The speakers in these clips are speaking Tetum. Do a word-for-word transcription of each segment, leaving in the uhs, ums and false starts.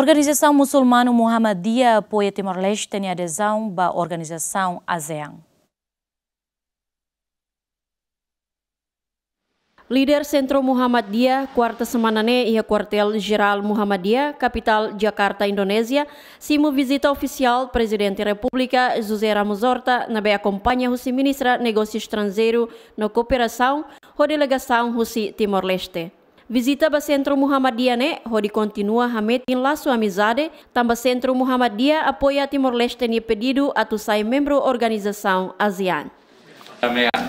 Organizasaun Musulmanu Muhammadiyah apoia Timor-Leste nia adezaun ba organizasaun ASEAN. Líder Sentru Muhammadiyah, kuarta semana ne'e iha Kuartél Jerál Muhammadiyah, kapitál Jakarta, Indonézia, simu vizita ofisiál Prezidente Repúblika José Ramos Horta, ne'ebé akompaña husi Ministra Negósiu Estranjeiru no Kooperasaun, ho delegasaun husi Timor-Leste. Vizita ba Sentru Muhammadiyah ne'e hodi kontinua hametin lasu amizade, tanba Sentru Muhammadiyah apoia Timor-Leste nia pedidu atu sai membru organizasaun ASEAN. Perdamaian.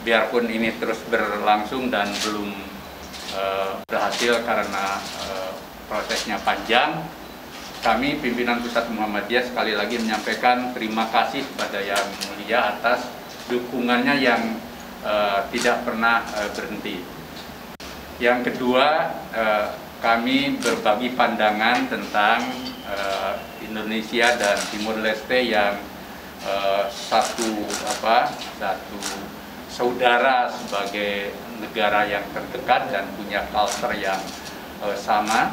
Biarpun ini terus berlangsung dan belum, eh, berhasil karena, eh, prosesnya panjang, kami pimpinan Pusat Muhammadiyah sekali lagi menyampaikan terima kasih kepada Yang Mulia atas dukungannya yang, eh, tidak pernah, eh, berhenti. Yang kedua, eh, kami berbagi pandangan tentang, eh, Indonesia dan Timor Leste yang, eh, satu, apa, satu saudara sebagai negara yang terdekat dan punya culture yang, eh, sama.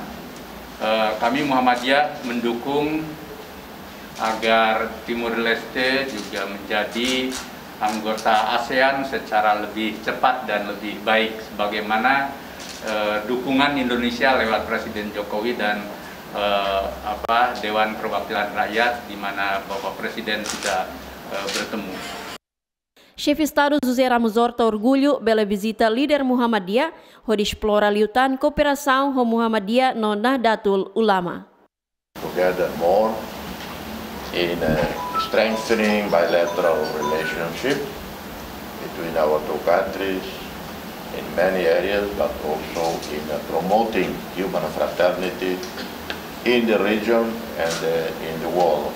Eh, kami Muhammadiyah mendukung agar Timor Leste juga menjadi anggota ASEAN secara lebih cepat dan lebih baik, sebagaimana, eh, dukungan Indonesia lewat Presiden Jokowi dan, eh, apa, Dewan Perwakilan Rakyat, di mana Bapak Presiden sudah, eh, bertemu. Xefe Estadu José Ramos Horta orgullu bele vizita líder Muhammadiyah, hodi esplora liután kooperasaun ho Muhammadiyah no Nahdlatul Ulama. Together more in, uh, strengthening bilateral relationship between our two countries in many areas, but also in, uh, promoting human fraternity in the region and, uh, in the world.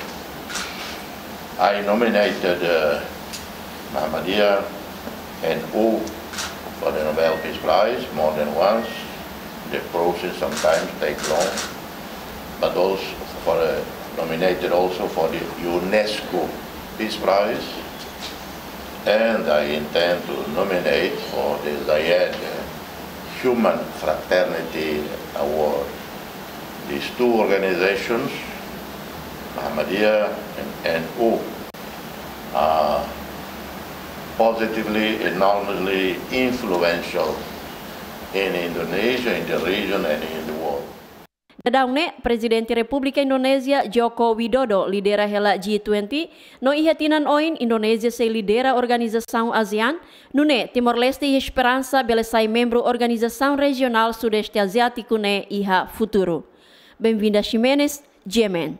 I nominated, uh, Muhammadiyah N U for the Nobel Peace Prize more than once. The process sometimes take long, but also for the, nominated also for the UNESCO Peace Prize, and I intend to nominate for the Zayed Human Fraternity Award. These two organizations, Muhammadiyah and N U, are positively, enormously influential in Indonesia, in the region, and in the world. Daudaun ne'e, Prezidente Repúblika Indonézia Joko Widodo lidera hela G twenty, no iha tinan oin Indonézia sei lidera organizasaun ASEAN, nune'e Timor-Leste iha esperansa bele sai membru organizasaun rejionál Sudeste Aziátiku ne'e iha futuru. Benvinda Ximenes, G M N.